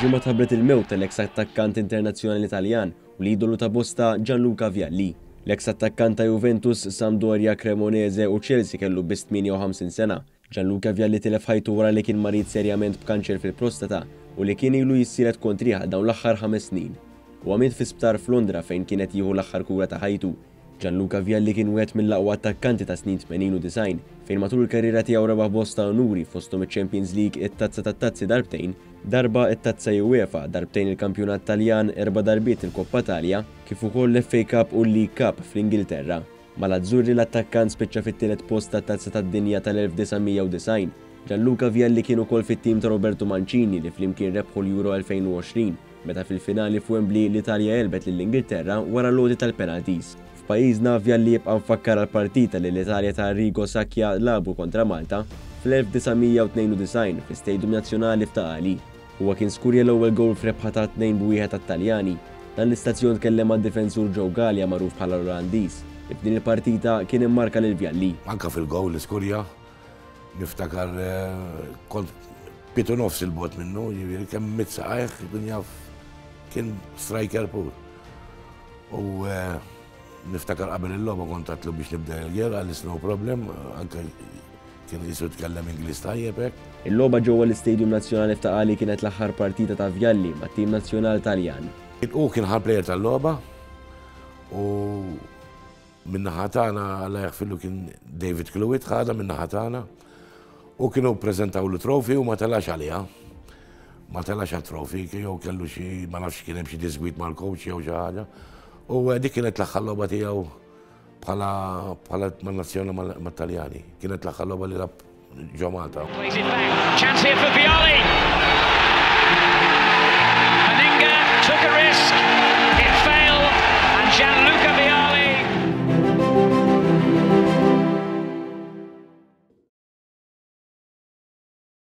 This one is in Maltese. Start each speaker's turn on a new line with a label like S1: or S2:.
S1: Il-Ġimgħa tħabbret il-mewt tal-eks attakkant internazzjonali Taljan u l-idolu ta' bosta Gianluca Vialli. L-eks attakkant ta' Juventus, Sampdoria, Cremonese u Chelsea kellu biss 58 sena. Gianluca Vialli tilef ħajtu wara li kien marid serjament b'kanċer fil-prostata u li kien ilu jissielet kontrih għal dawn l-aħħar ħames snin. Huwa miet fi sptar f'Londra fejn kien qed jieħu l-aħħar kura ta' ħajtu. Gianluca Vialli kien wieħed mill-aqwa attakkanti tas-snin 80 u 90, fejn matul il-karriera tiegħu rebaħ bosta unuri fosthom iċ-Champions League, it-Tazza tat-Tazzi darbtejn, darba it-Tazza UEFA, darbtejn il-Kampjonat Taljan, erba' darbiet il-Coppa Italia, kif ukoll l-FA Cup u l-League Cup fl-Ingilterra. Mal-Azzurri l-attakkant spiċċa fit-tielet post tat-Tazza tad-Dinja tal-1990. Gianluca Vialli kien ukoll fit-tim ta' Roberto Mancini li flimkien rebħu l-Euro 2020, meta fil-finali f'Wembley l-Italja għelbet lill-Ingilterra wara l-għoti tal-penalties. F'pajjiżna, Vialli jibqa' mfakkar għall-partita li l-Italja ta' Arrigo Sacchi lagħbu kontra Malta fl-1992 fl-Istadium Nazzjonali f'Ta' Qali. Huwa kien skurja l-ewwel gowl f'rebħa ta' 2-1 għat-Taljani. Dan l-istazzjon tkellem mad-difensur Joe Galea magħruf bħala l-Olandiż, li f'din il-partita kien immarka lil Vialli.
S2: Anke fil-gowl li skurja, Niftakar kont pitu nofs il-bot minnu, ġifieri kemm mitt saqajh kien jaf kien striker pur. U eh, niftakar qabel il-logħba kont għatlu biex nibda il-gera, għal no problem, anke kien jisu tkellem Ingliż tajjeb hekk.
S1: Il-logħba ġewwa l-Istadium Nazzjonali f'Ta' Qali kienet l-aħħar partita ta' Vialli mat-tim nazzjonal Taljan.
S2: Hu kien ħa player tal-logħba u Min-naħa tagħna Alla jaħfirlu kien David Cluett ħadha min-naħa tagħna u kienu ppreżentawlu trophy u ma telax għaliha. Ma telax għat-trophy jew kellu xi ma nafx kien hemm xi disgwid mal-coach jew xi ħaġa. U eh, dik kienet l-aħħar logħba tiegħu bħala bħala man-nazzjoni mat-Taljani. Kienet l-aħħar logħba li lab ġo Malta.
S3: Plays it back. Chance here for Vialli.